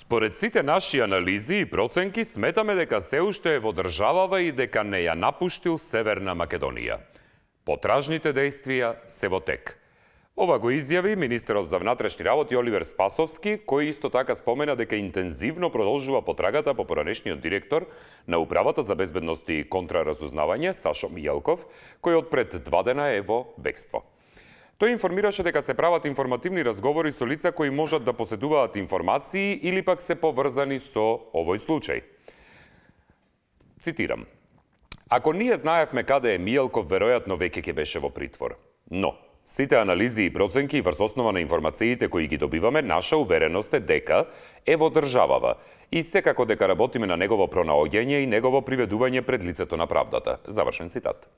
Според сите наши анализи и проценки, сметаме дека се уште е во државава и дека не ја напуштил Северна Македонија. Потражните дејствија се во тек. Ова го изјави министерот за внатрешни работи Оливер Спасовски, кој исто така спомена дека интензивно продолжува потрагата по поранешниот директор на Управата за безбедност и контраразузнавање Сашо Мијалков, кој од пред 2 дена е во бегство. Тој информираше дека се прават информативни разговори со лица кои можат да поседуваат информации или пак се поврзани со овој случај. Цитирам: "Ако ние знаевме каде е Мијалков, веројатно веќе ќе беше во притвор. Но сите анализи и проценки врз основа на информациите кои ги добиваме, наша увереност е дека е во државава и секако дека работиме на негово пронаоѓање и негово приведување пред лицето на правдата." Завршен цитат.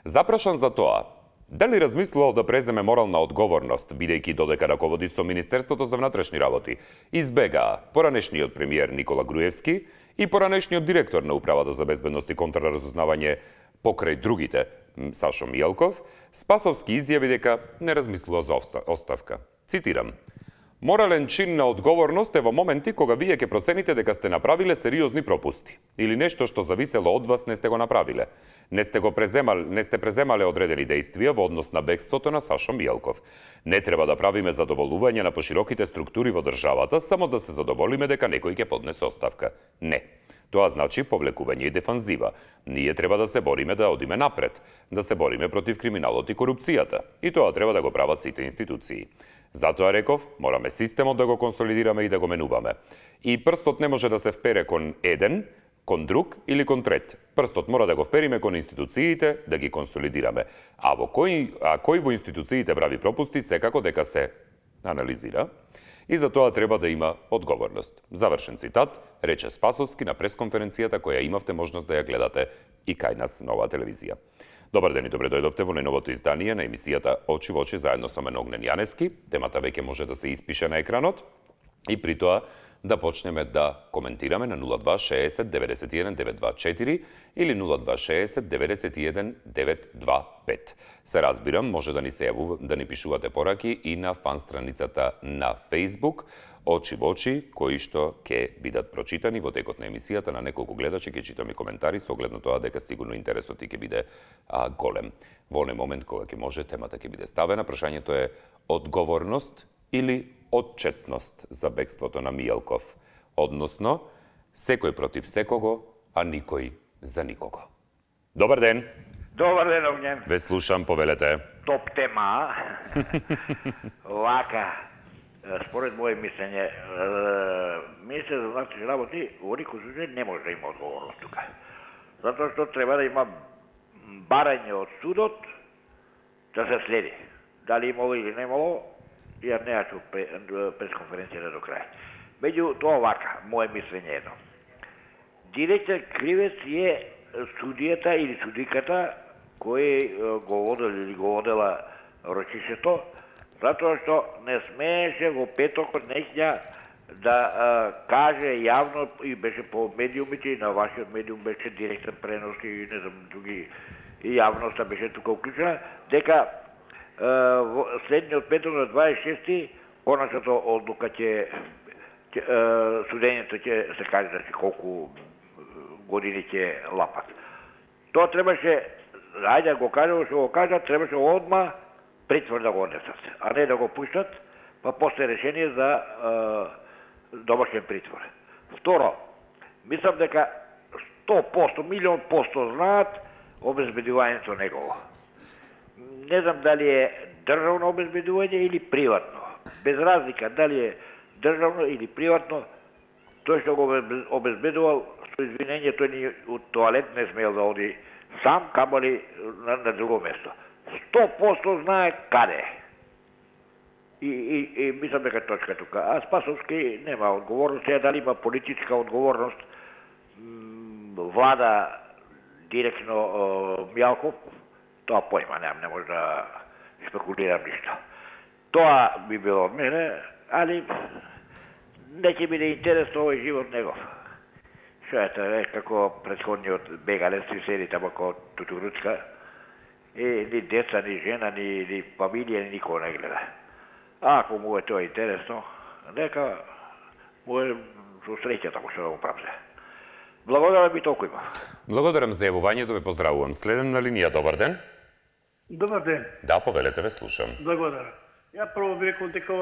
Запрашан за тоа дали размислувал да преземе морална одговорност, бидејќи додека раководи со Министерството за внатрешни работи, избегаа поранешниот премиер Никола Груевски и поранешниот директор на Управата за безбедност и контраразузнавање покрај другите, Сашо Мијалков, Спасовски изјави дека не размислува за оставка. Цитирам: "Морален чин на одговорност е во моменти кога вие ќе процените дека сте направиле сериозни пропусти или нешто што зависело од вас не сте го направиле. Не сте преземале одредени дејствија во однос на бегството на Сашо Мијалков. Не треба да правиме задоволување на пошироките структури во државата само да се задоволиме дека некој ќе поднесе оставка. Не. Тоа значи повлекување и дефанзива. Ние треба да се бориме да одиме напред, да се бориме против криминалот и корупцијата. И тоа треба да го прават сите институции. Затоа реков, мораме системот да го консолидираме и да го менуваме. И прстот не може да се впере кон еден, кон друг или кон трет. Прстот мора да го впериме кон институциите, да ги консолидираме. А кој во институциите прави пропусти, секако дека се анализира. И за тоа треба да има одговорност." Завршен цитат, рече Спасовски на пресконференцијата која имавте можност да ја гледате и кај нас на оваа телевизија. Добар ден и добре дојдовте во најновото издание на емисијата Очи во очи заедно со мен Огнен Јанески. Темата веќе може да се испише на екранот и при тоа да почнеме да коментираме на 0260 91 924 или 0260 91 925. Се разбирам, може да ни пишувате пораки и на фан страницата на Facebook Очи во очи, кои што ќе бидат прочитани во текот на емисијата. На неколку гледачи ќе читам и коментари со оглед на тоа дека сигурно интересот ќе биде голем. Во оној момент кога ќе може, темата ќе биде ставена. Прашањето е одговорност или отчетност за бегството на Мијалков, односно секој против секого, а никој за никого. Добар ден. Добар ден, Огнен. Ве слушам, повелете. Топ тема. Вака, според моје мислење, министер за внатрешни работи во никој случај не може да има одговорност тука. Затоа што треба да има барање од судот да се следи. Дали имало или не имало, ја не ја чув пресконференцијата до крај. Меѓу тоа вака, моје мислење едно. Директор кривец е судијата или судиката кој го водел или го водела рочишето, затоа што не смееше во петокот неќја да каже јавно и беше по медиумите и на вашиот медиум беше директен пренос и не знам други и јавноста беше тука уклучена, дека следниот петок на 26-ти коначната одлука судењето ќе се каже да колку години ќе лапат. Тоа требаше, ајде го кажа, што го кажа, требаше одма притвор да го однесат, а не да го пуштат, па после решение за домашен притвор. Второ, мислам дека 100%, милион % знаат обезбедувањето негово. Не знам дали е државно обезбедување или приватно. Без разлика дали е државно или приватно, тој што го обезбедувал, со извинење, тој ни од тоалет не смел да оди сам, камали на друго место. 100% знае каде. И мислам дека точка тука. А Спасовски нема одговорност, дали има политичка одговорност, влада директно Мијалков, тоа појма немам, не може да спекулирам ништо. Тоа би било од мене, али не ќе биде интересно овој живот негов. Шо е тоа, како претходниот бегалец и седи тамо како тутуруцка, ни деца, ни жена, ни фамилија, ни никого не гледа. Ако му е тоа интересно, нека му е со среќата го што го правзе. Благодарам и толку има. Благодарам за јавувањето, ве поздравувам. Следен на линија, добар ден. Добар ден. Да, повелете, ве слушам. Благодарам. Ја прво би рекол дека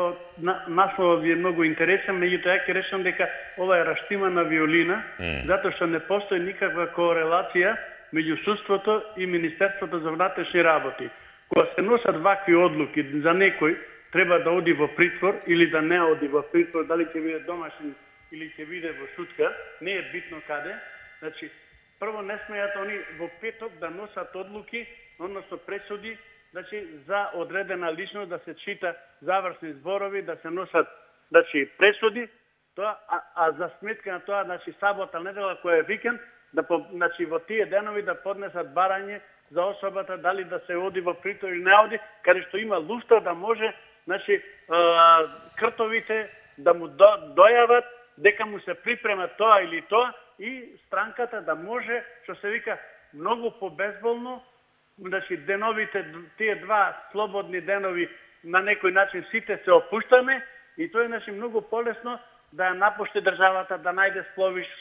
насловот ви е многу интересен, меѓутоа ја ќе речам дека ова е раштимана виолина, затоа што не постои никаква корелација меѓу судството и Министерството за внатрешни работи. Кога се носат вакви одлуки за некој треба да оди во притвор или да не оди во притвор, дали ќе биде домашен или ќе биде во сутка, не е битно каде. Значи, прво не смеат они во петок да носат одлуки, односно пресуди, значи за одредена личност да се чита завршни зборови, да се носат значи пресуди, тоа а за сметка на тоа значи сабота, недела која е викенд, да значи во тие денови да поднесат барање за особата дали да се оди во притвор или не оди, каде што има луфта да може значи кртовите да му дојават дека му се припрема тоа или тоа и странката да може, што се вика, многу побезболно, значи деновите, тие два слободни денови на некој начин сите се опуштаме и тоа е значи многу полесно да ја напушти државата, да најде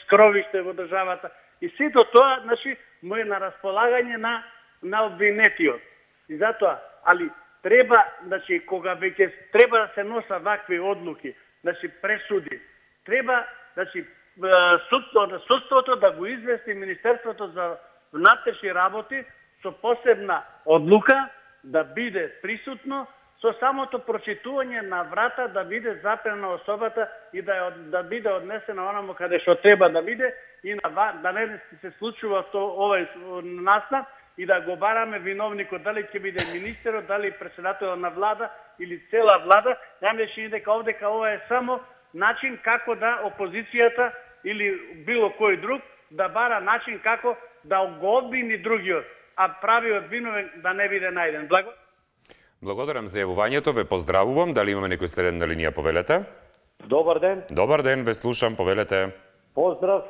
скровиште во државата и сето тоа значи му е на располагање на обвинетиот. И затоа, али треба, значи кога веќе треба да се носа вакви одлуки, значи пресуди, треба, значи судството да го извести Министерството за внатрешни работи со посебна одлука да биде присутно, со самото прочитување на врата да биде запрена особата и да биде однесена онаму каде што треба да биде и да не се случува овој настан и да го бараме виновникот, дали ќе биде министерот, дали председателот на влада или цела влада. Ја мислам дека овдека ова е само начин како да опозицијата или било кој друг да бара начин како да го одбини другиот, а правиот виновен да не биде најден. Благодарам за јавувањето, ве поздравувам. Дали имаме некој следен на линија, повелете? Добар ден. Добар ден, ве слушам, повелете. Поздрав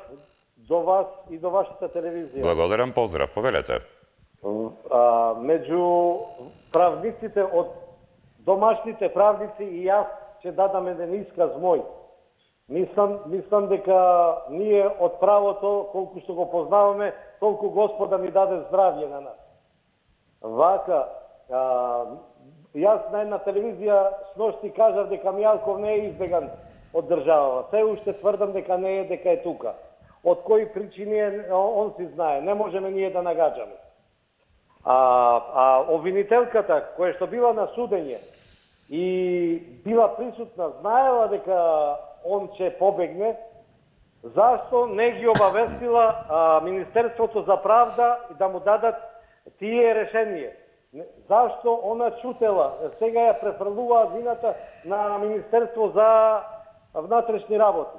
до вас и до вашата телевизија. Благодарам, поздрав, повелете. Меѓу правниците од домашните правници и јас ќе дадам еден исказ мој. Мислам дека ние од правото, колку што го познаваме, толку Господа ни даде здравје на нас. Вака, јас на една телевизија сношти кажав дека Мијалков не е избеган од државава. Се уште тврдам дека не е, дека е тука. Од кои причини е, он си знае. Не можеме ние да нагаđаме. Обвинителката, која што била на судење и била присутна, знаела дека он ќе побегне, зашто не ги обавестила Министерството за правда и да му дадат тие решение? Зашто она чутела? Сега ја префрлуваа вината на Министерство за внатрешни работи.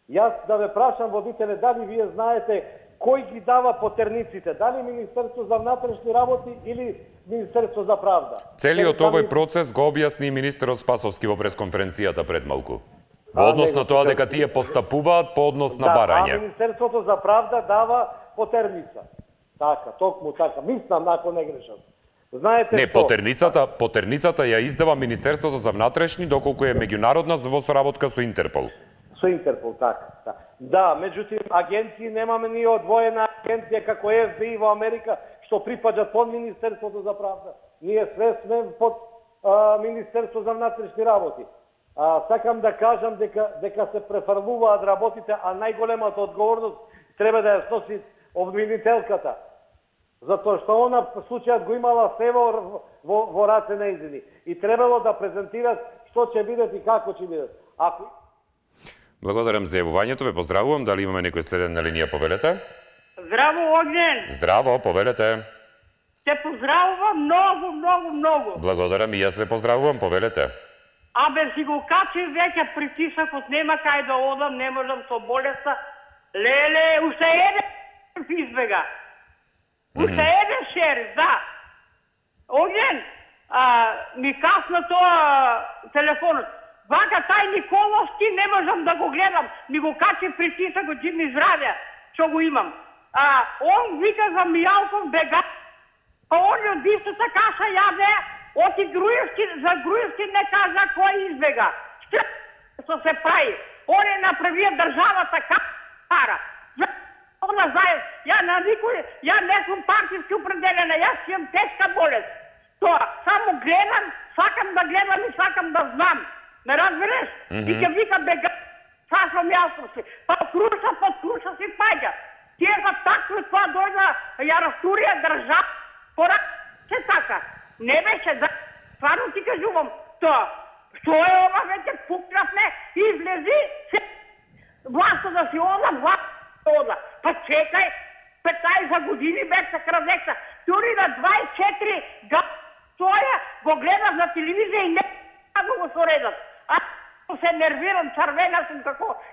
Јас да ве прашам, водителе, дали вие знаете кој ги дава потерниците? Дали Министерство за внатрешни работи или Министерство за правда? Целиот овој процес го објасни министерот Спасовски во пресконференцијата пред малку. Во однос на тоа дека тие постапуваат по однос на барање. А Министерството за правда дава потерница. Така, токму така. Мислам, ако не грешам. Знаете не, што? потерницата ја издава Министерството за внатрешни, доколку е меѓународна во соработка со Интерпол. Со Интерпол, така. Да, меѓутоа агенции немаме ние одвоена агенција како ФБИ во Америка што припаѓа под Министерството за правда. Ние све сме под Министерство за внатрешни работи. Сакам да кажам дека се префрлуваат работите, а најголемата одговорност треба да ја сноси обвинителката. Затоа што она случајот го имала се во раце нејзини. И требало да презентират што ќе бидат и како ќе бидат. Благодарам за јавувањето, ве поздравувам. Дали имаме некој следен на линија, повелете? Здраво, Огнен! Здраво, повелете. Те поздравувам многу. Благодарам и јас ве поздравувам, повелете. Абе, си го качи веќе притисакот, нема кај да одам, не можам со болеста. Леле, уште еден избега. Уште еден шериф, да. Огнен, ми касна тоа телефонот. Вака тај Николовски не можам да го гледам. Ми го качи притисакот, ќе ми здравја, што го имам. Он вика за Мијалков бега, а он од истата каша јаде, оти Груевски, за Груевски не кажа кој избега. Што се прави? Он е направил државата кара. Она знае, ја не сум партиски определена, јас имам тешка болест. Тоа, само гледам, сакам да гледам и сакам да знам. Ме разбереш? И ќе вика бега, сашом јасно си. Па под круша си паѓа. Тие за такво тоа дојда, ја растурија држава, пора се така. Не беше, да, стварно ти кажувам, тоа. Што е ова веќе пукнавме, излези, се власта да си ода, ода. Па чекај, 15 години беше крадекса. Дури на 24 стоја, го гледав на телевизија и не да го соредат. Се нервирам, црвена сум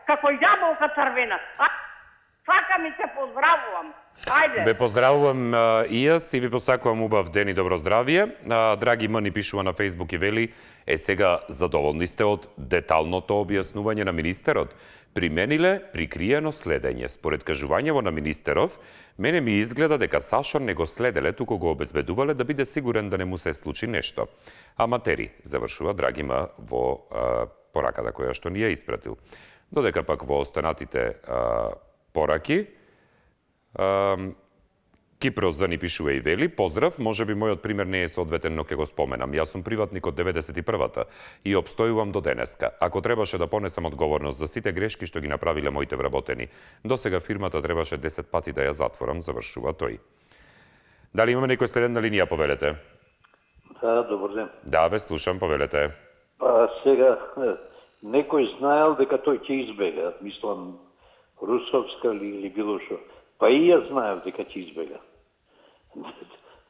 како јаболка црвена. Сакам и те поздравувам. Ајде. Ве поздравувам и јас и ви посакувам убав ден и добро здравје. Драги М ни пишува на Фејсбук и вели, сега задоволни сте од деталното објаснување на министерот. Примениле прикриено следење. Според кажувањево на министеров, мене ми изгледа дека Сашо не го следеле, туку го обезбедувале да биде сигурен да не му се случи нешто. Аматери, завршува Драги М во пораката која што ни ја испратил. Додека пак во останатите пораки, Кипрос за ни пишува и вели, поздрав, може би мојот пример не е соодветен, но ќе го споменам. Јас сум приватник од 91-та и обстојувам до денеска. Ако требаше да понесам одговорност за сите грешки што ги направиле моите вработени, досега фирмата требаше 10 пати да ја затворам, завршува тој. Дали имаме некој следен на линија, повелете? Да, добар ден. Да, ве слушам, повелете. Сега, некој знаел дека тој ќе избега, мислам, Русовска или било што. Па и јас знаев дека ќе избега.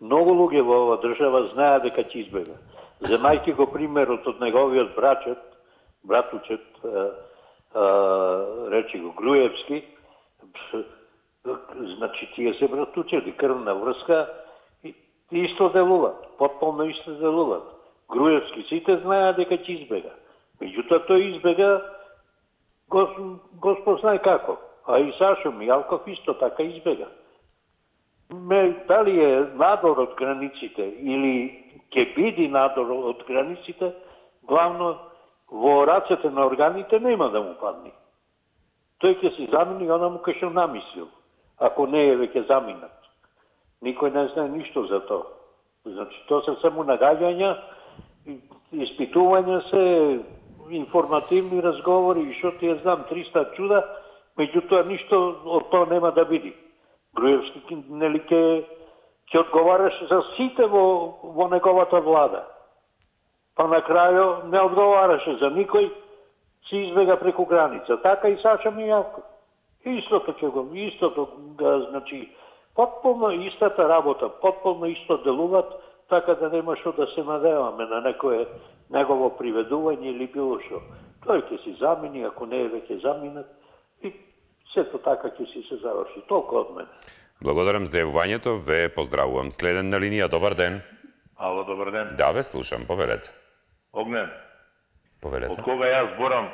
Многу луѓе во ова држава знаеа дека ќе избега. Земајќи го примерот од неговиот братучет, речи го Груевски, значи тие се братучети, крвна врска, и исто делуваат, потполно исто делуваат. Груевски сите знаеа дека ќе избега. Меѓутоа тој избега, Господ знае како. А и Сашо Мијалков исто така избега. Дали е надор од границите или ќе биде надор од границите, главно во рацете на органите нема да му падне. Тој ќе се замени онаму кај што намислил, ако не е веќе заминат. Никој не знае ништо за тоа. Значи, тоа се само нагаѓања, испитувања се, информативни разговори и што ти ја знам, 300 чуда, меѓутоа ништо од тоа нема да биде. Груевски нели ќе одговараше за сите во неговата влада. Па на крајо не одговараше за никој, се избега преку граница. Така и Саша Мијалков. Истото, значи, потполно истата работа, потполно исто делуваат, така да нема што да се надеваме на некое негово приведување или било што. Тој ќе се замени, ако не е веќе заминат, и сето така ќе си се заврши. Толку од мене. Благодарам за јавувањето, ве поздравувам. Следен на линија, добар ден. Ало, добар ден. Да, ве слушам, повелете. Огнен. Повелете. Од кога јас зборам,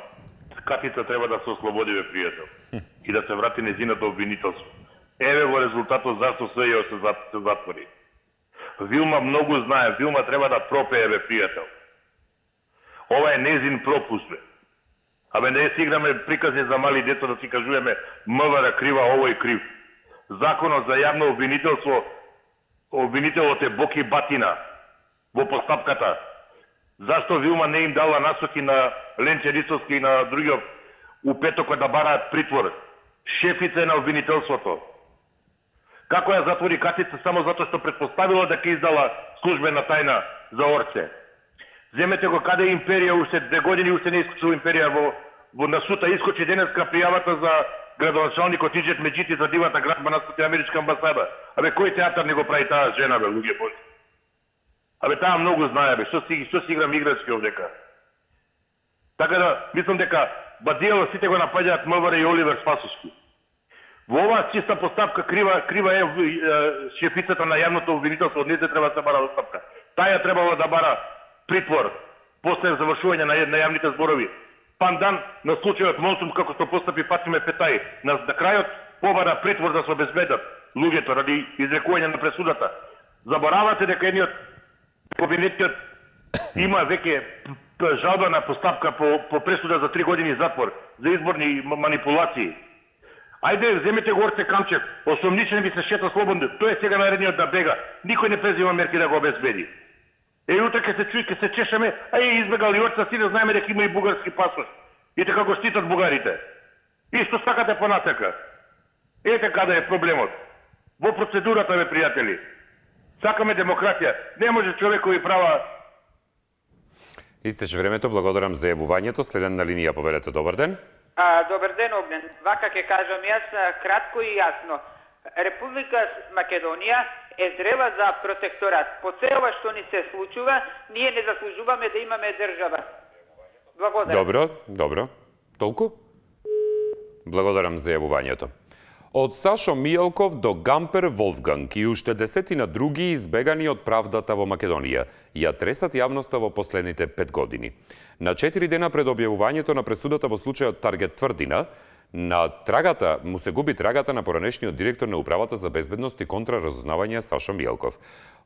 Катица треба да се ослободи, бе, пријател. И да се врати незиното обвинителство. Еве во резултатот зашто СЈО се затвори. Вилма многу знае, Вилма треба да пропее, бе, пријател. Ова е незин пропуст, бе. Абе, не си играме приказни за мали деца да си кажуваме МВР крива, овој крив. Законот за јавно обвинителство, обвинителот е Боки Батина во постапката. Зашто Вилма не им дала насоки на Ленче Рисовски и на другиот у петокот да бараат притвор? Шефица на обвинителството. Како ја затвори Катица само затоа што предпоставила дека издала службена тајна за Орце? Земете го каде империја, уште 2 години уште не искочила империја во насута, искочи денеска пријавата за градоначалникот Иџет Меджити за дивата градба на Америчка амбасада. Абе, кој театар не го прави таа жена, бе, луѓе божи? Абе, таа многу знае, бе, што си играм играчки овдека. Така да, мислам дека бадијало сите го напаѓаат МВР и Оливер Спасовски. Во оваа чиста постапка крива е шефицата на јавното обвинителство, од нејзе треба да се бара оставка. Таја требало да бара притвор после завршување на јавните зборови. Пандан на случајот Монсум, како што постапи Фатиме Петај, на крајот побара притвор да се обезбедат луѓето ради изрекување на пресудата. Заборавате дека едниот кабинетот има веќе Тоа е жалбена постапка по пресуда за 3 години затвор за изборни манипулации. Ајде, земете го Орце Камчев, осомничен би се шета слободно. Тој е сега наредниот да бега. Никој не презима мерки да го обезбеди. Утре ке се чуи, ке се чешеме, избегал и Орца, си да знаеме дека има и бугарски пасош. И така го штитат бугарите. Исто сакате понатака. Ете каде е проблемот. Во процедурата, бе, пријатели. Сакаме демократија. Не може човекови права. Истече времето, благодарам за јавувањето. Следен на линија, повелете, добар ден. Добар ден, Огнен. Вака ќе кажам јас кратко и јасно. Република Македонија е зрела за протекторат. По се ова што ни се случува, ние не заслужуваме да имаме држава. Благодарам. Добро. Толку? Благодарам за јавувањето. Од Сашо Мијалков до Гампер Волфганг и уште десетина други избегани од правдата во Македонија ја тресат јавноста во последните 5 години. На 4 дена пред објавувањето на пресудата во случајот Таргет Тврдина, му се губи трагата на поранешниот директор на Управата за безбедност и контраразузнавање Сашо Мијалков.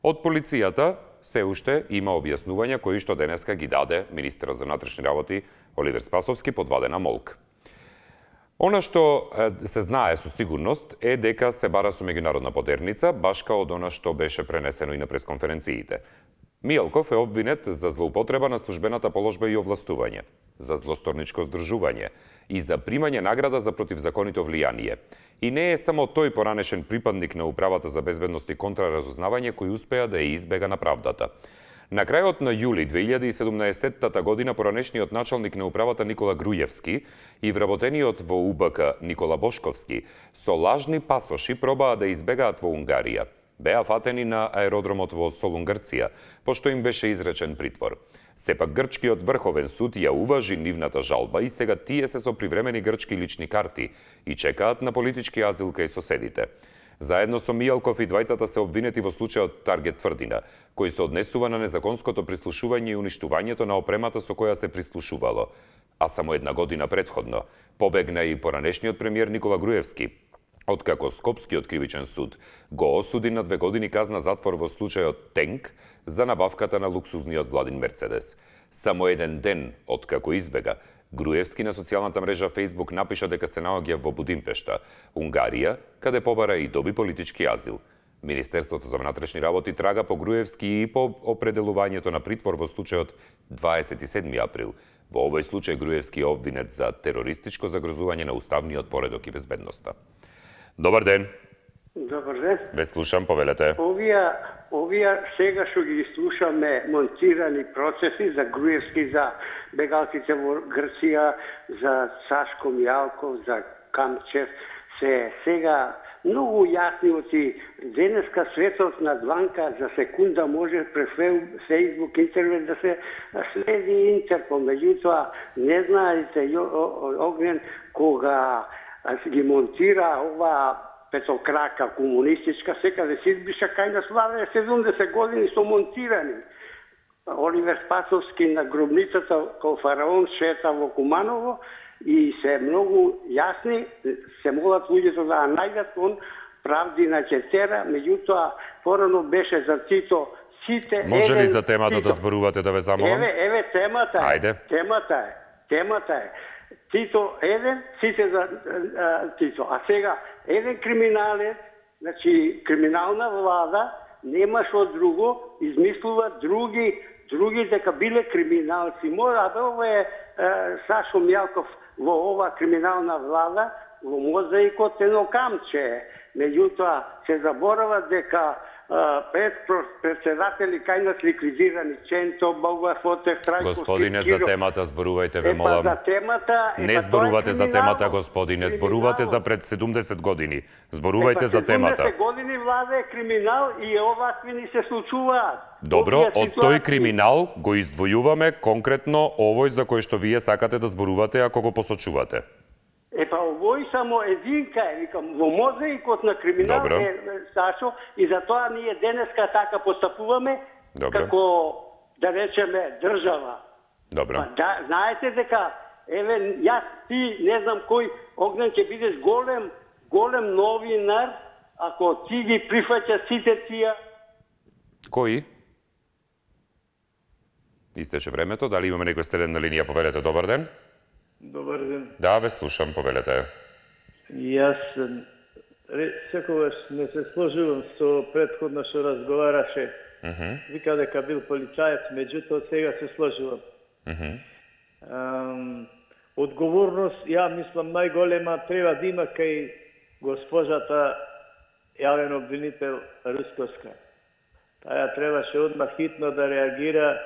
Од полицијата се уште има објаснувања кои што денеска ги даде министерот за внатрешни работи Оливер Спасовски под вадена молк. Она што се знае со сигурност е дека се бара со меѓународна подерница, баш као од она што беше пренесено и на пресконференциите. Мијалков е обвинет за злоупотреба на службената положба и овластување, за злосторничко здружување и за примање награда за противзаконито влијание. И не е само тој поранешен припадник на Управата за безбедност и контраразузнавање кој успеа да ја избега на правдата. На крајот на јули 2017 година поранешниот началник на Управата Никола Грујевски и вработениот во УБК Никола Бошковски со лажни пасоши пробаа да избегаат во Унгарија. Беа фатени на аеродромот во Солун, Грција, пошто им беше изречен притвор. Сепак грчкиот врховен суд ја уважи нивната жалба и сега тие се со привремени грчки лични карти и чекаат на политички азил кај соседите. Заедно со Мијалков и двајцата се обвинети во случајот Таргет Тврдина, кој се однесува на незаконското прислушување и уништувањето на опремата со која се прислушувало. А само една година предходно побегна и поранешниот премиер Никола Груевски, откако Скопскиот кривичен суд го осуди на 2 години казна затвор во случајот Тенк за набавката на луксузниот Владин Мерцедес. Само еден ден откако избега, Груевски на социјалната мрежа Facebook напиша дека се наоѓа во Будимпешта, Унгарија, каде побара и доби политички азил. Министерството за внатрешни работи трага по Груевски и по определувањето на притвор во случајот 27 април. Во овој случај Груевски е обвинет за терористичко загрозување на уставниот поредок и безбедноста. Добар ден. Добар ден. Ве слушам, повелете. Овие сега што ги слушаме монтирани процеси за Груевски, за бегалците во Грција, за Сашко Мијалков, за Камчев, се сега многу јасни оти. Денеска светот на дланка за секунда може пред Facebook, интернет да се следи Интерпол. Меѓутоа, не знаете, Огнен, кога ги монтира ова петокрака комунистичка, секаде се избиша кај нас влада 70 години со монтирани. Оливер Спасовски на гробницата кај фараон шета во Куманово и се многу јасни, се молат луѓето да најдат он правди на четера, меѓутоа порано беше за Тито сите... Може ли за темата да зборувате, да ве замолам? Еве темата е. Ајде. Темата е. Тито еден, сите за Тито. А сега, еден криминалец, значи криминална влада, нема што друго, измислува други дека биле криминалци. Мора да ова е Сашо Мијалков во ова криминална влада, во мозаикот едно камче. Меѓутоа, се заборава дека председатели кај нас ликвидирани Ченто, Богдар Фотев, Трајко Скиркиро. Господине, за темата зборувајте, ве молам. За темата... Не зборувате за темата, господине, зборувате за пред 70 години. Зборувајте за темата. 70 години влада е криминал и овакви ни се случуваат. Добро, од тој криминал го издвојуваме конкретно овој за кој што вие сакате да зборувате ако го посочувате. Овој само единка е, викам, во мозаикот на криминал е Сашо и затоа ние денеска така постапуваме како, да речеме, држава. Добро. Да, знаете дека, еве, јас, ти, не знам кој, Огнен, ќе бидеш голем новинар, ако ти ги прифаќа сите тија... Кои? Истече времето. Дали имаме некој стелен на линија? Повелете, добар ден. Добар ден. Да, ве слушам, повелете. Јас секогаш не се сложувам со претходно што разговараше. Вика дека бил полицаец, меѓутоа сега се сложувам. Одговорност, ја мислам, најголема треба да има кај госпожата јавен обвинител Русковска. Таја требаше одмah хитно да реагира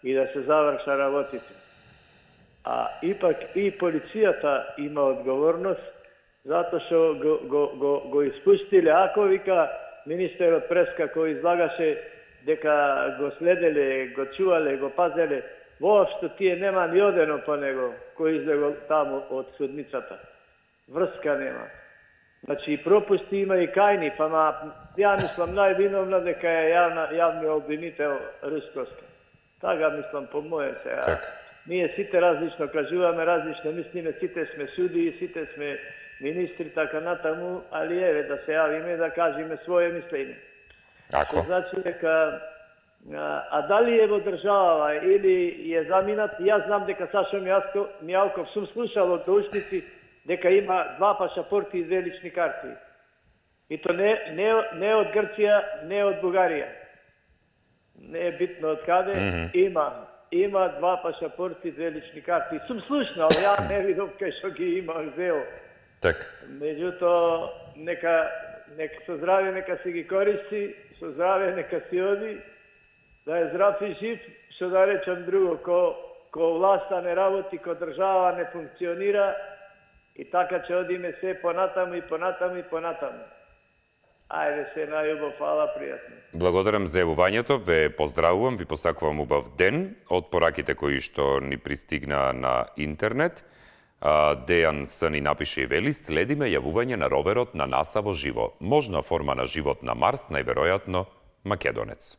и да се заврша работите. А ипак и полицијата има одговорност, затоа што го испустиле, ако вика министерот Преска кој излагаше дека го следеле, го чувале, го пазеле, воопшто тие нема ни одено по него кој излегол таму од судницата. Врска нема. Значи и пропусти има и кајни, па ја мислам највиновна дека е јавниот обвинител Русковска. Така мислам по моје сега. Ние сите различно кажуваме, различно мислиме, сите сме суди, сите сме министри, така натаму, али еве да се јавиме да кажеме своје мислење. Ако? Значи дека дали е во држава или е заминат, јас знам дека Сашо Мијалков сум слушал од ушници дека има 2 пашапорти и 2 лични карти. И то не од Грција, не од Бугарија. Не е битно од каде, има 2 пашапорти и 2 лични карти. Сум слушнал, ја не видов кај што ги има взел. Меѓутоа, нека со здраве нека се ги користи, со здраве нека си оди, да е здрав и жив, што да речам друго, ко власта не работи, ко држава не функционира, и така ќе одиме се понатаму и понатаму и понатаму. Ајде се најубав, фала, пријатно. Благодарам за јавувањето, ве поздравувам, ви посакувам убав ден од пораките кои што ни пристигна на интернет. Дејан С ни напише и вели: следиме јавување на роверот на НАСА во живо. Можна форма на живот на Марс, најверојатно македонец.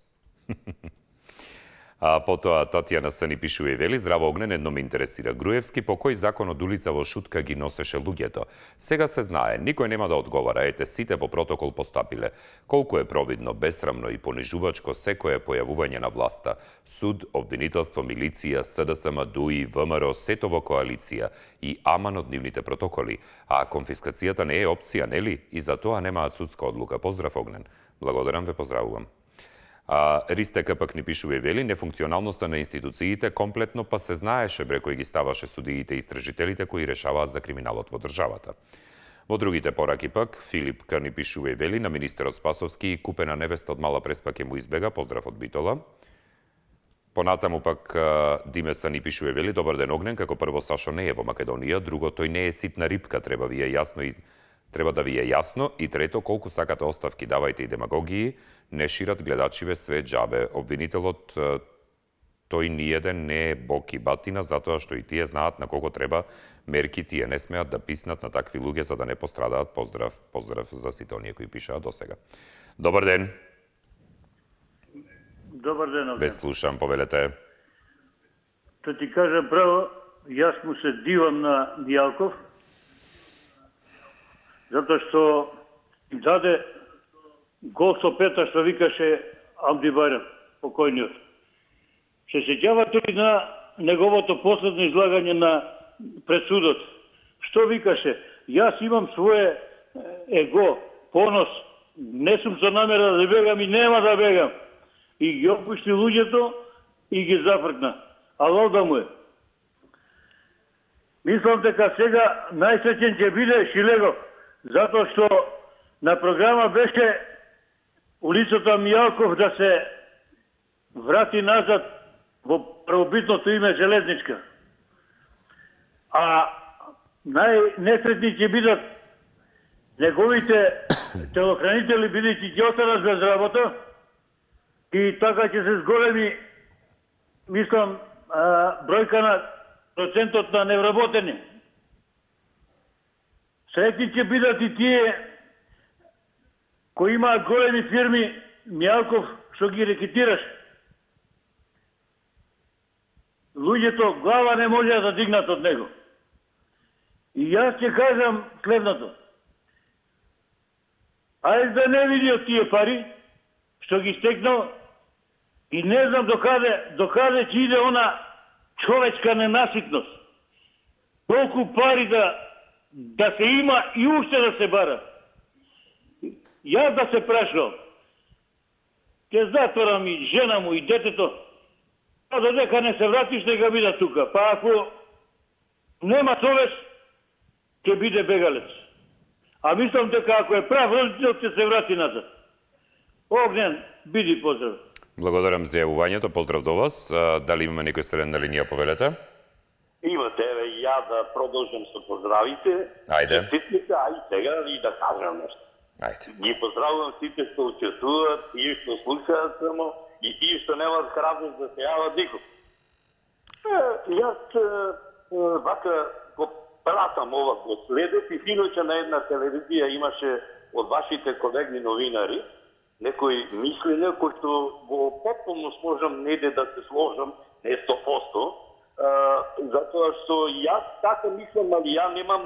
Потоа Татјана С ни пишува и вели: здраво Огнен, едно ме интересира. Груевски по кој закон од улица во Шутка ги носеше луѓето? Сега се знае, никој нема да одговара, ете сите по протокол постапиле. Колку е провидно, бесрамно и понижувачко секое појавување на власта. Суд, обвинителство, милиција, СДСМ, ДУИ, ВМРО, сето во коалиција и аман од нивните протоколи. А конфискацијата не е опција, нели? И за тоа немаат судска одлука. Поздрав Огнен. Благодарам, ве поздравувам. Ристека пак ни пишува и вели: нефункционалноста на институциите комплетно па се знаеше бре кој ги ставаше судиите и истражителите кои решаваат за криминалот во државата. Во другите пораки пак, Филип К ни пишува и вели: на министерот Спасовски купена невеста од Мала Преспа ќе му избега, поздрав од Битола. Понатаму пак Димеса ни пишува и вели: добар ден Огнен, како прво Сашо не е во Македонија, друго тој не е ситна рибка, треба да ви е јасно, и трето, колку сакате оставки, давајте и демагогии, не шират гледачиве све џабе. Обвинителот тој ниеден не е бог и батина, затоа што и тие знаат на кого треба мерки, тие не смеат да писнат на такви луѓе за да не пострадаат. Поздрав за сите оние кои пишаат до сега. Добар ден. Добар ден, Огнен. Ве слушам, повелете. Да ти кажам право, јас му се дивам на Мијалков, затоа што им даде гол со пета, што викаше Амди Бајрам, покојниот. Се сеќавате ли на неговото последно излагање пред судот? Што викаше? Јас имам свое его, понос, не сум со намера да бегам и нема да бегам. И ги опушти луѓето и ги зафркна. А лода му е. Мислам дека сега најсреќен ќе биде Шилегов, затоа што на програма беше улицата Мијалков да се врати назад во првобитното име Железничка. А најнесретни ќе бидат неговите телохранители, бидејќи ќе останат без работа, и така ќе се зголеми, мислам, бројка на процентот на невработени. Среќни ќе бидат и тие кои имаат големи фирми, Мијалков, што ги рекетираш. Луѓето глава не може да дигнат од него. И јас ќе кажам следното. Ајде да не види од тие пари, што ги стекнал, И не знам докаде ќе иде она човечка ненаситност. Толку пари да се има и уште да се бара. Јас да се прашам, ќе затворам и жена му и детето, а додека не се вратиш нека биде тука. Па ако нема совест, ќе биде бегалец. А мислам дека ако е прав родител, ќе се врати назад. Огнен, биди поздрав. Благодарам за јавувањето, поздрав до вас. Дали имаме некој следен на линија, повелете? Имате, и ја да продолжам со поздравите. Ајде. Честитите, а и сега и да кажам нешто. Ајде. Ги поздравувам сите што учествуваат, тие што слушаат само и тие што немаат храброст да се јават никој. Јас вака го пратам ова, го следев и синоќа на една телевизија имаше од вашите колеги новинари некои мислења кои што го потполно сможам неде да се сложам, не 100%, затоа што јас така мислам, али ја немам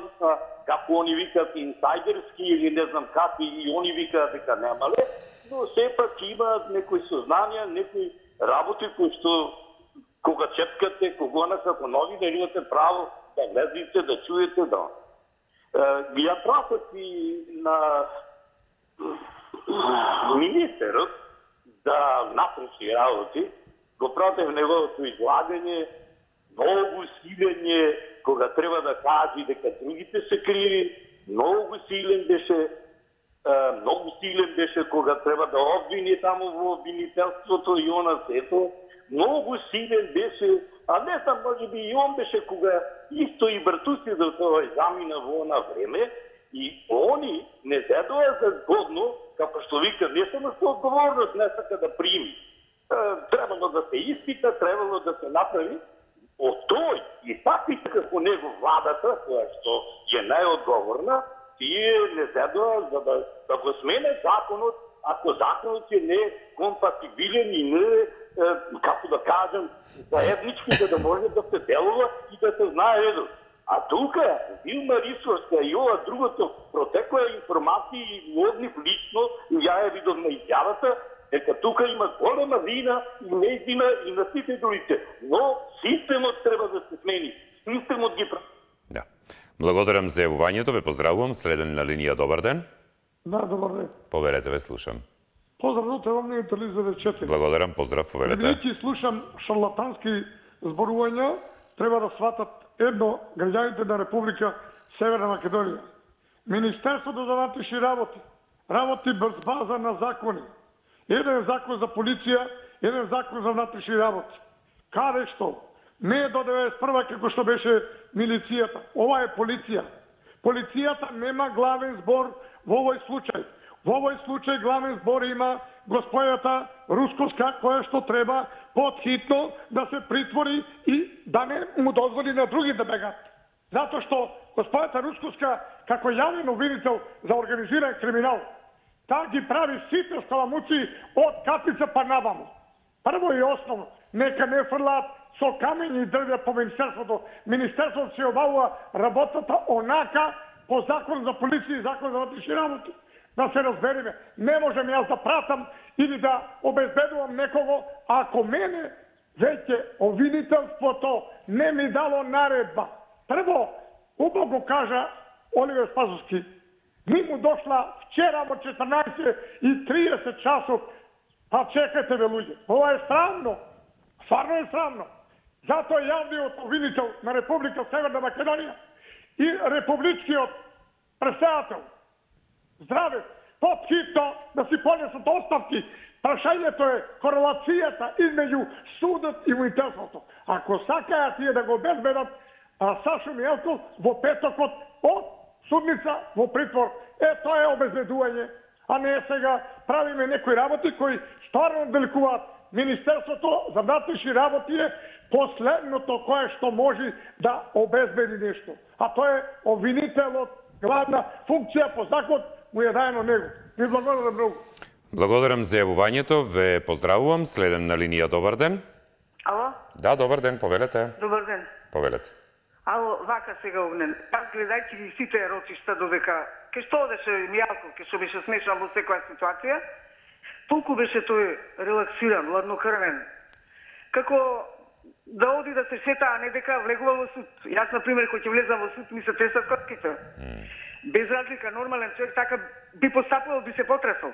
како они викаат инсайдерски или не знам какви и они викаат дека немале, но сепак има некои сознанија, некои работи кои што кога чепкате, кога како новинар имате право да гледате, да чуете, да. Ја пратат и на министерот да напреши работи, го пратев неговото излагање, многу силење, кога треба да кажи дека другите се криви, многу силен беше кога треба да обвини таму во обвинителството и она сето, многу силен беше, а не знам, може би и он беше кога исто и Бартуси за тоа замина во она време, и они не зедоа за згодно, како што вика, не само со одговорност не сака да прими. Требало да се испита, требало да се направи од тој и таквите како него владата, која што е најодговорна, тие не зедоа за да го смене законот, ако законот е некомпатибилен и не, како да кажем, заеднички, за да може да се делува и да се знае редот. А тука, Вилма Рисовска и ова другото, протекла информации и однив лично, и ја ја видов на изјавата, дека тука има голема вина и неистина и на сите другите. Но системот треба да се смени. Системот ги прави. Да. Благодарам за јавувањето, ве поздравувам. Следен на линија, добар ден. Да, добар ден. Поверете, ве слушам. Поздрав до телевизија телевизија 4. Благодарам, поздрав, поверете. Бидејќи слушам шарлатански зборувања, треба да сватат едно граѓаните на Република Северна Македонија. Министерството за внатрешни работи без база на закони. Еден закон за полиција, еден закон за внатрешни работи. Каде што? Не е до 91 како што беше милицијата. Ова е полиција. Полицијата нема главен збор во овој случај. Во овој случај главен збор има господјата Русковска, која што треба подхитно да се притвори и да не му дозволи на други да бегат. Затоа што господјата Русковска, како јавен обвинител за организиран криминал, таа ги прави сите скаламуци од Капица па наваму. Прво и основно, нека не фрлаат со камењи и дрвја по Министерството. Министерството се обавува работата онака по закон за полиција и закон за внатрешни работи. Да се разбериме, не можем јас да пратам или да обезбедувам некого, ако мене веќе обвинителството не ми дало наредба. Прво, убаво го кажа Оливер Спасовски, ми му дошла вчера во 14:30 часот, па чекате ве луѓе. Ова е срамно, стварно е срамно. Затоа јавниот обвинител на Република Северна Македонија и републичкиот председател Здраве, подхитно да си понесат оставки. Прашањето е корелацијата измеѓу судот и воителството. Ако сакаат тие да го обезбедат Сашо Мијалков во петокот од судница во притвор, тоа е обезбедување, а не сега правиме некои работи кои стварно деликуваат. Министерството за внатрешни работи е последното кое што може да обезбеди нешто. А тоа е обвинителот, главна функција по закон му е даено него. Ви благодарам многу. Благодарам за јавувањето, ве поздравувам. Следен на линија, добар ден. Ало? Да, добар ден, повелете. Добар ден. Повелете. Ало, вака сега Огнен. Аз гледајќи ги сите еротишта додека ке што одеше Мијалков, ке што беше смешан во секоја ситуација, толку беше тој релаксиран, ладнокрвен, како да оди да се шета, а не дека влегува во суд. Јас, например, кој ќе влезам во суд, ми се тресат котките. Без разлика, нормален човек така би постапувал, би се потресал.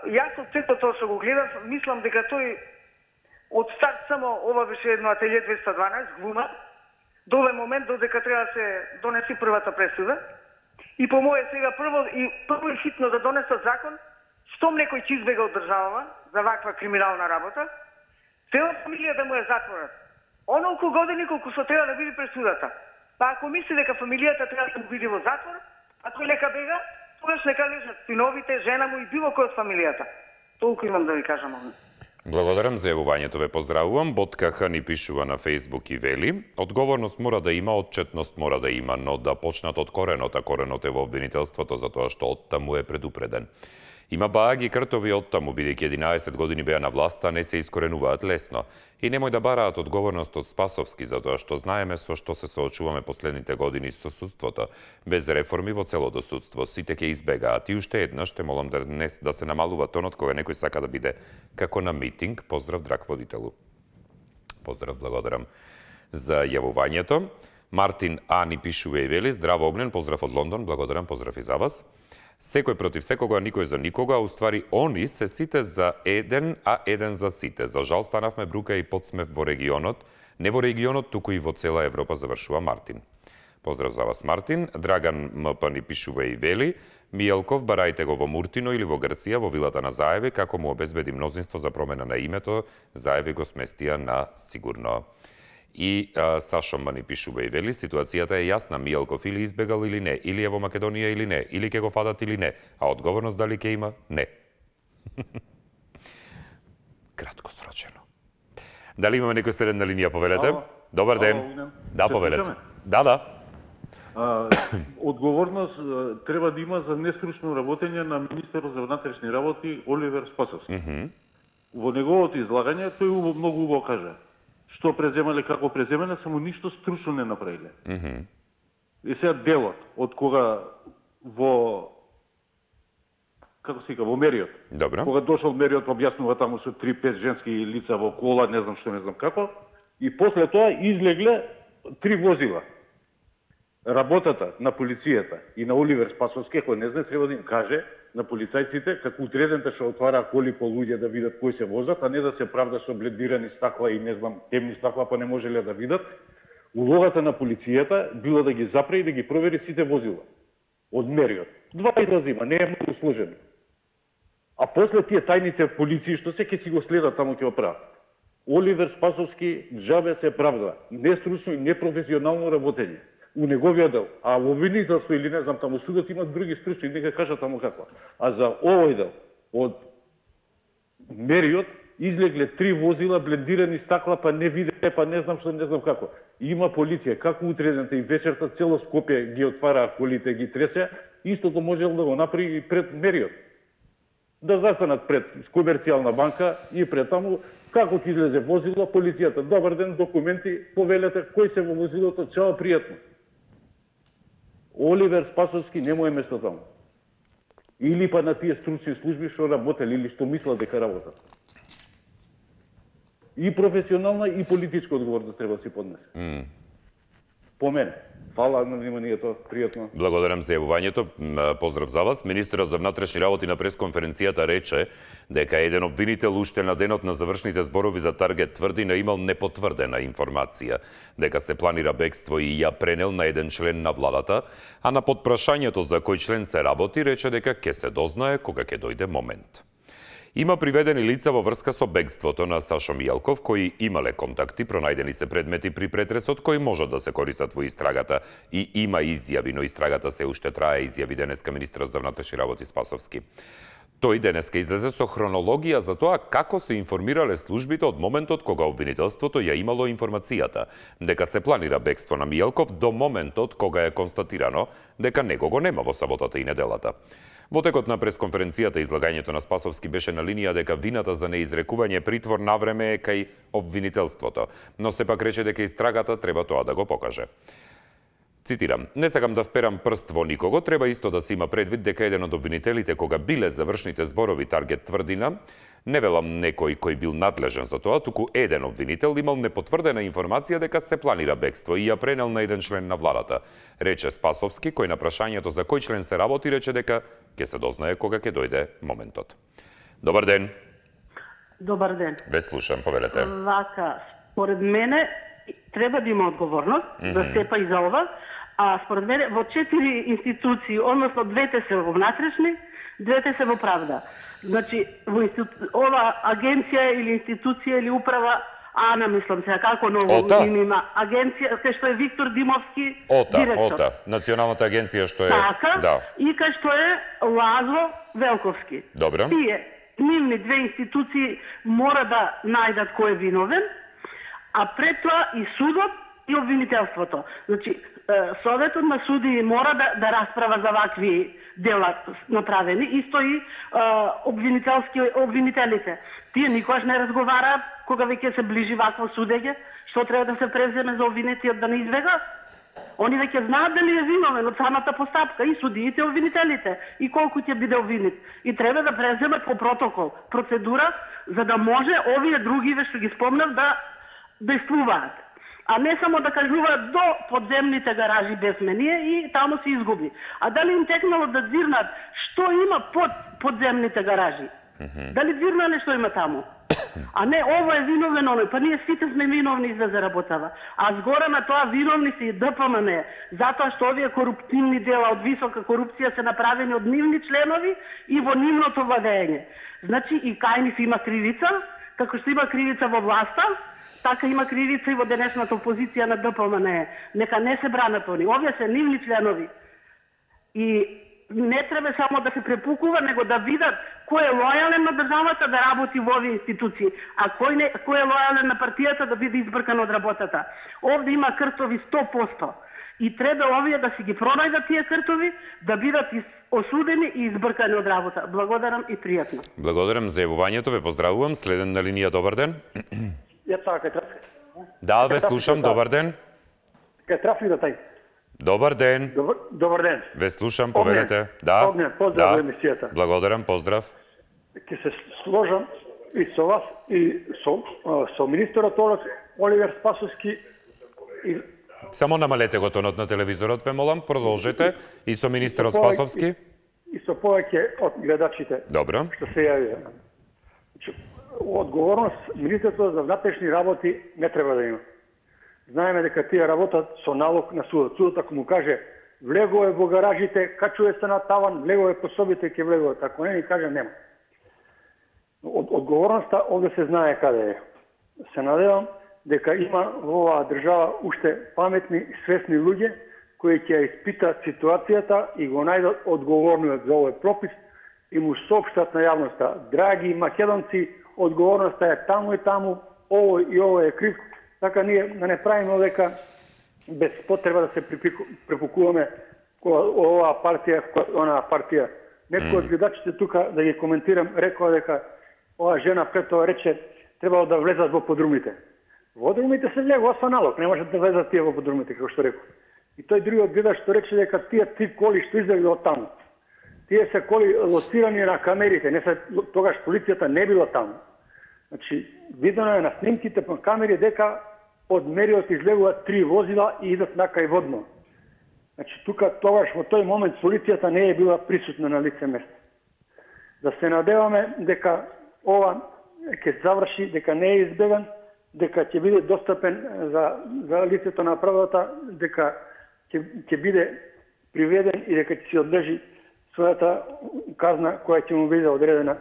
Јас од сето тоа што го гледав, мислам дека тој од старт само ова беше едно ателје 212, глума, до овој момент додека треба да се донеси првата пресуда. И по моје сега прво и хитно да донесат закон, штом некој ќе избега од државава за ваква криминална работа, цела фамилија да му е затворат. Онолку години колку што треба да биде пресудата. Па ако мисли дека фамилијата треба да му биде во затвор, а тој нека бега, тогаш нека лежат синовите, жена му и било кој од фамилијата. Толку имам да ви кажам. Благодарам за јавувањето, ве поздравувам. Боткаха ни пишува на Фејсбук и вели: одговорност мора да има, отчетност мора да има, но да почнат од коренот, а коренот е во обвинителството затоа што оттаму е предупреден. Има бааги кртови оттаму, бидејќи 11 години беа на власта, не се искоренуваат лесно. И немој да бараат одговорност од Спасовски, затоа што знаеме со што се соочуваме последните години со судството. Без реформи во целото судство, сите ќе избегаат. И уште еднаш те молам да се намалува тонот кога некој сака да биде како на митинг. Поздрав, драг водителу. Поздрав, благодарам за јавувањето. Мартин А ни пишува и вели: здраво Огнен, поздрав од Лондон, благодарам, поздрав и за вас. Секој против секога, никој за никога, уствари они се сите за еден, а еден за сите. За жал станавме брука и подсмев во регионот, не во регионот, туку и во цела Европа, завршува Мартин. Поздрав за вас, Мартин. Драган МП ни пишува и вели: Мијелков, барајте го во Муртино или во Грција, во вилата на Заеви, како му обезбеди мнозинство за промена на името, Заеви го сместија на сигурно. И Сашо Ма ни пишува и вели: ситуацијата е јасна, Мијелков или избегал или не, или е во Македонија или не, или ќе го фадат или не, а одговорност дали ќе има? Не. Кратко срочено. Дали имаме некој следен на линија, повелете? Добар ден. Да, повелете. Да. Одговорност треба да има за нестручно работење на министерот за внатрешни работи Оливер Спасовски. Во неговото излагање тој многу убаво кажа што преземале, како преземале, само ништо стручно не направиле. И сега делот, од кога во во Мериот. Добро. Кога дошол Мериот, објаснува таму со 3-5 женски лица во кола, не знам што, не знам како, и после тоа излегле 3 возила. Работата на полицијата и на Оливер Спасовски, кој не знае, треба да им каже на полицајците како утредента што отвара коли по луѓе да видат кои се возат, а не да се правда со блендирани стакла и не знам темни стакла, па не можеле да видат. Улогата на полицијата била да ги запре и да ги провери сите возила од Мериот. 2 изрази има, не е многу сложено. А после тие тајните полиции што се ќе си го следат таму ќе го прават. Оливер Спасовски джабе се правда, нестручно и непрофесионално работење у неговиот дел, а во обвинителство или не знам таму судот имат други стручни, нека кажа таму каква. А за овој дел од Мериот излегле 3 возила, блендирани стакла, па не виде, па не знам што, не знам како. Има полиција, како утредента и вечерта цело Скопје ги отвара колите, ги тресе, истото можел да го направи и пред Мериот. Да застанат пред комерцијална банка и пред таму, како ќе излезе возило, полицијата, добар ден, документи, повелете, кој се во возилото, чао, пријатно. Оливер Спасовски нема место таму. Или па на тие стручни служби што работели или што мислат дека работат. И професионална и политичка одговорност треба да си поднесе. По мене. Фала на вниманието, пријатно. Благодарам за јавувањето. Поздрав за вас. Министерот за внатрешни работи на пресконференцијата рече дека еден обвинител уште на денот на завршните зборови за Таргет тврди да имал непотврдена информација, дека се планира бегство и ја пренел на еден член на владата, а на потпрашањето за кој член се работи рече дека ќе се дознае кога ќе дојде момент. Има приведени лица во врска со бегството на Сашо Мијелков, кои имале контакти, пронајдени се предмети при претресот кои можат да се користат во истрагата и има изјави, но истрагата се уште трае, изјави денеска министерот за внатрешни работи Спасовски. Тој денеска излезе со хронологија за тоа како се информирале службите од моментот кога обвинителството ја имало информацијата дека се планира бегство на Мијелков до моментот кога е констатирано дека него го нема во саботата и неделата. Во текот на пресконференцијата излагањето на Спасовски беше на линија дека вината за неизрекување притвор навреме е кај обвинителството, но сепак рече дека истрагата треба тоа да го покаже. Цитирам: "Не сакам да вперам прст во никого, треба исто да се има предвид дека еден од обвинителите кога биле завршните зборови таргет тврдина, не велам некој кој бил надлежен за тоа, туку еден обвинител имал непотврдена информација дека се планира бегство и ја пренел на еден член на владата", рече Спасовски, кој на прашањето за кој член се работи рече дека ќе се дознае кога ќе дојде моментот. Добар ден. Добар ден. Ве слушам, повелете. Вака, според мене треба да има одговорност да степа и за ова, а според мене во 4 институции, односно двете се во внатрешни, двете се во правда. Значи, ова агенција или институција или управа, Ана, мислам се, како ново има агенција, кај што е Виктор Димовски, директор. ОТА, Националната агенција што е... Така, да. И кај што е Лазо Велковски. Добро. Тие, нивни две институции мора да најдат кој е виновен, а пред тоа и судот и обвинителството. Значи, Советот на суди мора да расправа за вакви дела направени, исто и обвинителите. Тие никогаш не разговараат кога веќе се ближи вакво судење, што треба да се преземе за обвинетиот да не избега. Они веќе знаат дали е виновен од самата постапка, и судиите, и обвинителите, и колку ќе биде обвинет. И треба да преземат по протокол, процедура, за да може овие другиве што ги спомнав да действуваат. А не само да кажуваат до подземните гаражи без мение и таму се изгуби. А дали им текнало да дзирнат што има под подземните гаражи? Дали дзирнале што има таму? А не, ова е виновен оној, па ние сите сме виновни за заработава. А згора на тоа виновни се и ДПМН, затоа што овие коруптивни дела од висока корупција се направени од нивни членови и во нивното владење. Значи и кај нив има кривица, како што има кривица во власта, така има кривица и во денешната опозиција на ДПМН. Нека не се бранат они. Овие се нивни членови. И не треба само да се препукува, него да видат кој е лојален на државата да работи во овие институции, а кој е лојален на партијата да биде избркан од работата. Овде има кртови 100%. И треба овие да си ги пронајдат тие кртови, да бидат осудени и избркани од работа. Благодарам и пријатно. Благодарам за јавувањето, ве поздравувам. Следен на линија, добар ден. Ја така трафик. Да, ве слушам, добар ден. Кај трафик да тај. Добар ден. Добар ден. Ве слушам, повелете. Да. Огнен, поздрав во емисијата. Благодарам, поздрав. Ќе се сложам и со вас и со министерот Оливер Спасовски. Само намалете го тонот на телевизорот, ве молам, продолжете. И со министерот Спасовски. И со повеќе од гледачите. Добро. Што се јавија. Одговорност Министерството за внатрешни работи не треба да има. Знаеме дека тие работат со налог на судот. Судот ако му каже влегове во гаражите, качува се на таван, влегове по собите, ќе влегове. Ако не ни каже, нема. Одговорноста овде се знае каде е. Се надевам дека има во оваа држава уште паметни и свесни луѓе кои ќе испитат ситуацијата и го најдат одговорниот за овој пропис и му соопштат на јавноста. Драги македонци, одговорноста е таму и таму, овој и овој е крив. Така ние да не правиме дека без потреба да се препукуваме оваа партија, онаа партија. Некој од гледачите тука, да ги коментирам, рекоа дека оваа жена пред тоа рече требало да влезат во подрумите. Во подрумите се влегува со налог, не можат да влезат тие во подрумите, како што рекол. И тој другиот гледач што рече дека тие 3 коли што излегли од таму, тие се коли лоцирани на камерите, не се тогаш полицијата не била таму. Значи, видено е на снимките по камери дека од мериот излегуваат 3 возила и идат накај водно. Значи, тука тогаш во тој момент полицијата не е била присутна на лице место. Да се надеваме дека ова ќе заврши, дека не е избеган, дека ќе биде достапен за лицето на правдата, дека ќе биде приведен и дека ќе си одлежи својата казна која ќе му биде одредена.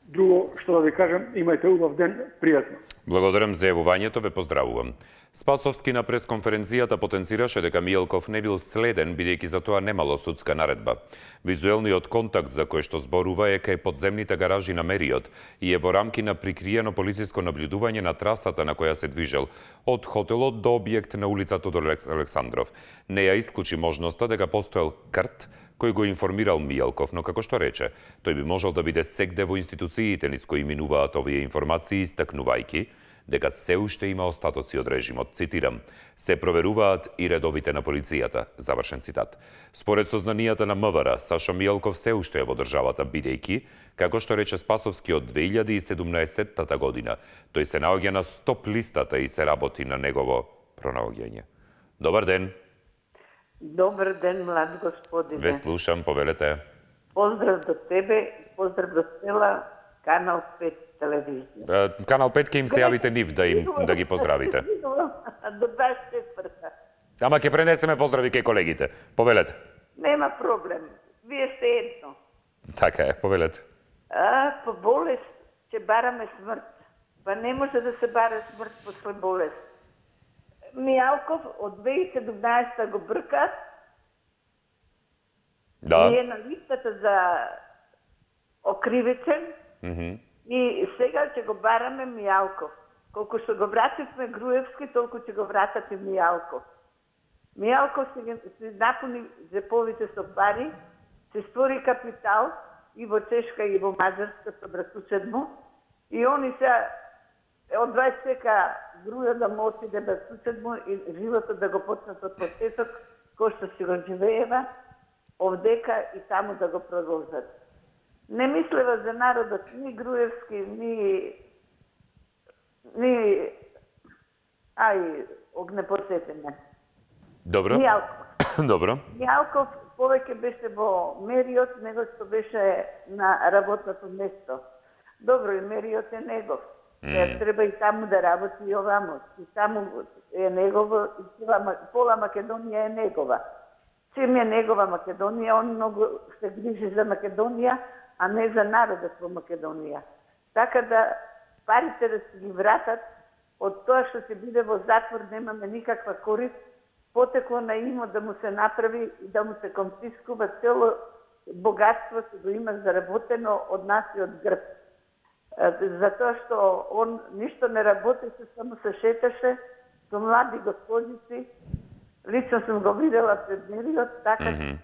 Друго што да ви кажам, имајте убав ден, пријатно. Благодарам за јавувањето, ве поздравувам. Спасовски на пресконференцијата потенцираше дека Мијалков не бил следен, бидејќи за тоа немало судска наредба. Визуелниот контакт за кој што зборува е кај подземните гаражи на мериот и е во рамки на прикриено полициско наблюдување на трасата на која се движел од хотелот до објект на улица Тодор Александров. Не ја исклучи можноста дека постоел крт кој го информирал Мијалков, но како што рече, тој би можел да биде сегде во институциите низ кои минуваат овие информации, истакнувајќи дека се уште има остатоци од режимот, цитирам, се проверуваат и редовите на полицијата, завршен цитат. Според сознанијата на МВР, Саша Мијалков се уште е во државата, бидејќи, како што рече Спасовски од 2017 година, тој се наоѓа на стоп листата и се работи на негово пронаоѓање. Добар ден. Добар ден, млад господине. Ве слушам, повелете. Поздрав до тебе, поздрав до цела Канал 5 телевизија. Канал 5 ќе им се јавите нив да ги поздравите. До 24-та. Ама ќе пренесеме поздрави кај колегите. Повелете. Нема проблем. Вие сте едно. Така е, повелете. По болест ќе бараме смрт. Па не може да се бара смрт после болест. Мијалков од 2017 го брка. Да. И е на листата за окривичен. И сега ќе го бараме Мијалков. Колку што го вративме Груевски, толку ќе го вратат и Мијалков. Мијалков се напуни джеповите со пари, се створи капитал и во Чешка и во Маđarска со братучет му. И они се од 20 века Груја да му отиде братучет му и животот да го почнат од почеток, кој што си го живеева, овдека и таму да го продолжат. Не мислева за народот ни Груевски, ни огнепосетене. Добро. Мијалков. Добро. Мијалков повеќе беше во Мериот, него што беше на работното место. Добро, и Мериот е негов. Треба и таму да работи и овамо. И таму е негово, и пола Македонија е негова. Чим е негова Македонија, он многу се грижи за Македонија, а не за народот во Македонија. Така да парите да се ги вратат, од тоа што се биде во затвор немаме никаква корист, потекло на имо да му се направи и да му се конфискува цело богатство што го има заработено од нас и од Грб. Затоа што он ништо не работеше, само се шеташе со млади госпожици. Лично сум го видела пред Мериот, така.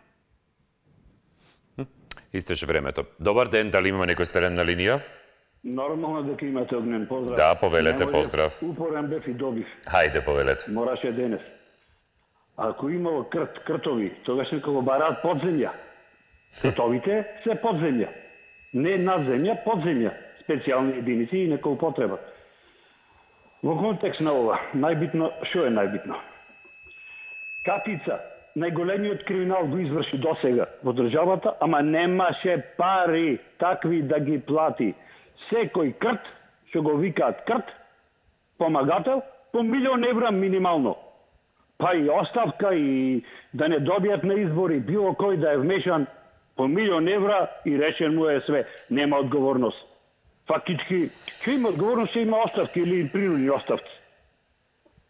Истеше времето. Добар ден, дали имаме некој стерен на линија? Нормално дека имате огнен поздрав. Да, повелете, поздрав. Упорен бев и добив. Хајде, повелете. Мораше денес. Ако имало кртови, тогаш нека го бараат подземја. Кртовите се подземја. Не надземја, подземја. Специјални единици и нека употребат. Во контекст на ова, најбитно, што е најбитно? Катица, најголемиот криминал го изврши досега во државата, ама немаше пари такви да ги плати. Секој крт, што го викаат крт, помагател, по 1.000.000 евра минимално. Па и оставка и да не добијат на избори, било кој да е вмешан, по 1.000.000 евра и решен му е све. Нема одговорност. Фактички, ќе има одговорност, ќе има оставки или принудни оставки.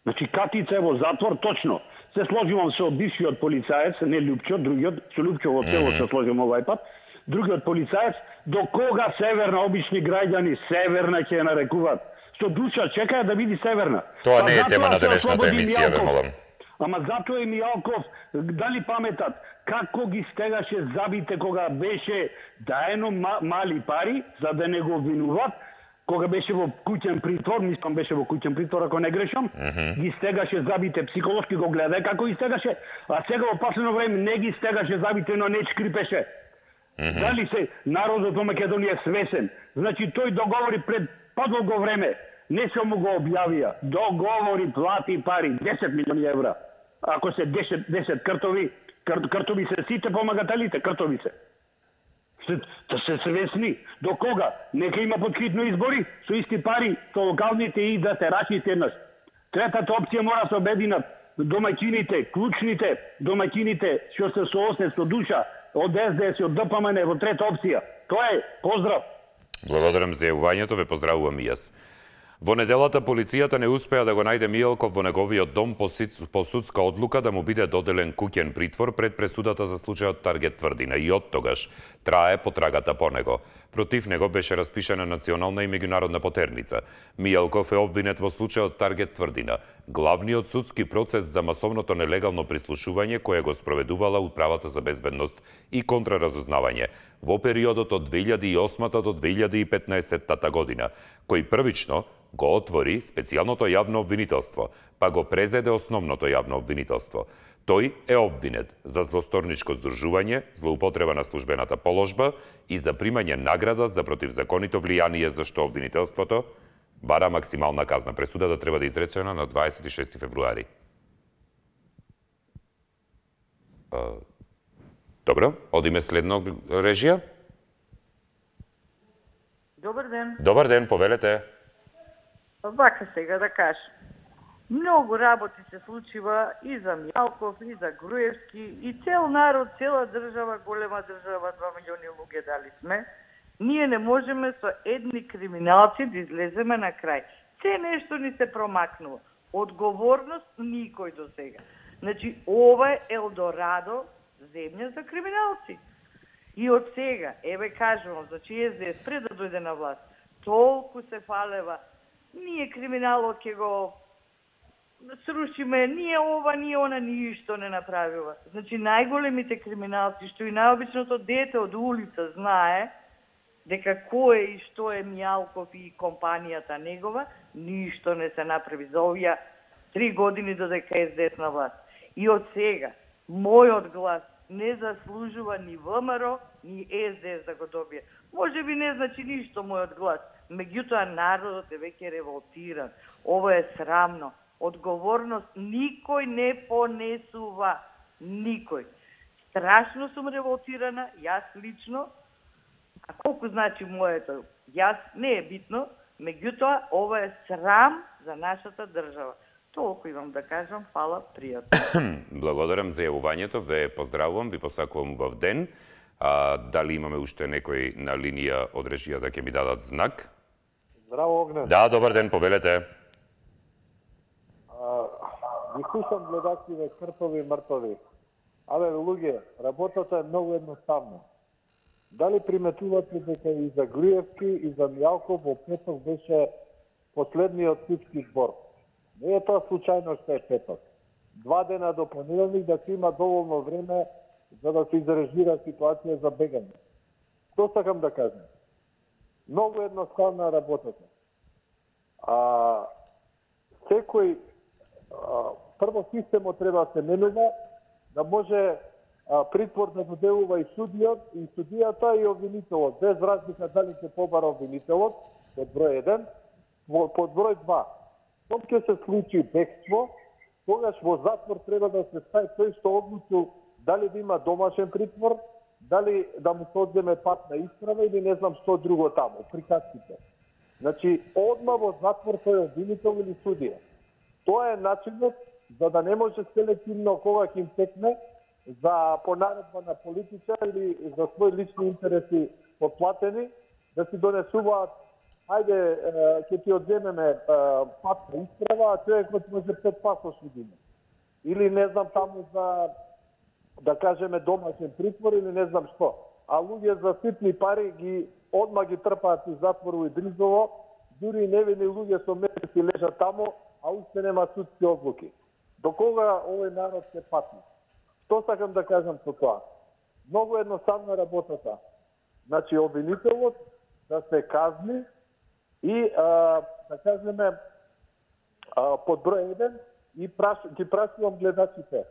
Значи, Катица е во затвор, точно. Се сложувам со бившиот полицаец, не Лјупчо, другиот, со Лјупчо во цело се сложим овај пат, другиот полицаец, до кога Северна, обични граѓани, Северна ќе нарекуваат. Со душа чекаја да види Северна. Тоа не е тема на денешната емисија, ве молам. Ама затоа и Мијалков, дали паметат, како ги стегаше забите кога беше даено мали пари, за да не го обвинуваат, кога беше во куќен притвор, мислам беше во куќен притвор, ако не грешам, ги стегаше забите, психолошки го гледај како ги стегаше, а сега во последно време не ги стегаше забите, но не шкрипеше. Дали се народот во Македонија свесен? Значи тој договори пред подолго време, не се му го објавија, договори, плати пари, 10 милиони евра. Ако се 10 кртови се сите помагателите, кртови се. Да се свесни. До кога? Нека има подхитно избори, со исти пари, со локалните и да се рашите еднаш. Третата опција мора се обединат домаќините, клучните домаќините, што се соосне со душа, од СДС и од ДПМН во трета опција. Тоа е. Поздрав. Благодарам за јавувањето, ве поздравувам и јас. Во неделата полицијата не успеа да го најде Мијалков во неговиот дом по судска одлука да му биде доделен куќен притвор пред пресудата за случајот Таргет Тврдина и оттогаш трае потрагата по него. Против него беше распишена национална и меѓународна потерница. Мијалков е обвинет во случајот Таргет Тврдина, главниот судски процес за масовното нелегално прислушување кое го спроведувала Управата за безбедност и контраразузнавање во периодот од 2008 до 2015 година, кој првично го отвори специјалното јавно обвинителство, па го презеде основното јавно обвинителство. Тој е обвинет за злосторничко здружување, злоупотреба на службената положба и за примање награда за противзаконито влијание, за што обвинителството бара максимална казна. Пресудата треба да изречена на 26 февруари. Добро, одиме следно режија. Добар ден. Добар ден, повелете. Вака сега да кажам. Многу работи се случува и за Мјалков, и за Груевски, и цел народ, цела држава, голема држава, 2 милиони луѓе дали сме. Ние не можеме со едни криминалци да излеземе на крај. Се нешто ни се промакнува. Одговорност никој до сега. Значи, ова е Елдорадо, земја за криминалци. И од сега, еве кажувам, значи СДС пред да дојде на власт, толку се фалева, ние криминалот ќе го срушиме, ние ова, ние она, ништо не направила. Значи, најголемите криминалци, што и најобичното дете од улица знае, дека кој е и што е Мјалков и компанијата негова, ништо не се направи за овие 3 години додека СДС на власт. И од сега, мојот глас не заслужува ни ВМРО, ни СДС да го добие. Може би не значи ништо мојот глас, меѓутоа народот е веќе револтиран. Ова е срамно. Одговорност никој не понесува. Никој. Страшно сум револтирана, јас лично, а колку значи моето, јас не е битно, меѓутоа ова е срам за нашата држава. Толку имам да кажам, фала, пријатно. Благодарам за јавувањето, ве поздравувам, ви посакувам убав ден. Дали имаме уште некој на линија од режијата ќе ми дадат знак? Здраво, Огнен. Да, добар ден, повелете. Ги слушам гледачите кртови и мртови. Абе, луѓе, работата е многу едноставна. Дали приметувате дека и за Груевски и за Мјалков во петок беше последниот судски збор? Не е тоа случајно што е петок. 2 дена до понеделник да се има доволно време за да се изрежира ситуација за бегање. Што сакам да кажам? Многу едноставна работата. Секој прво системот треба да се менува, да може притвор да доделува и судијата и обвинителот, без разлика дали ќе побара обвинителот, под број 1, под број 2. Кога ќе се случи бегство, тогаш во затвор треба да се стави тој што одлучил дали да има домашен притвор, дали да му се одземе патна исправа или не знам што друго таму, приказките. Значи, одма во затвор тој обвинител или судија. Тоа е начинот за да не може селективно кога ќе им текне за понаредба на политичар или за своји лични интереси подплатени, да си донесуваат ајде, ќе ти одземеме патна исправа, а човекот може 5 пасошни да има. Или не знам таму за, да кажеме, домашен притвор или не знам што. А луѓе за ситни пари ги одма ги трпаат и затвору и Дризово, дури и невини луѓе со месеци лежат таму, а уште нема судски одлуки. До кога овој народ се патни? Што сакам да кажам со тоа? Многу едноставна работата. Значи, обвинителот да се казни и, да кажеме, под број 1 и ги прашувам гледачите.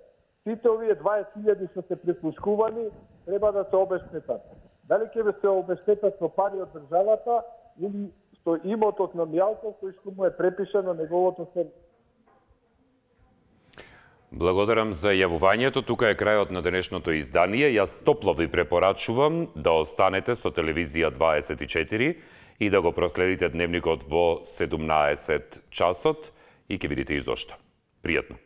Сите овие 20.000 што се прислушкувани треба да се обештетат. Дали ќе се обештетат со пари од државата или со имотот на Мјалков кој што му е препишано неговото се. Благодарам за јавувањето. Тука е крајот на денешното издание. Јас топло ви препорачувам да останете со Телевизија 24 и да го проследите дневникот во 17 часот и ќе видите и зошто. Пријатно.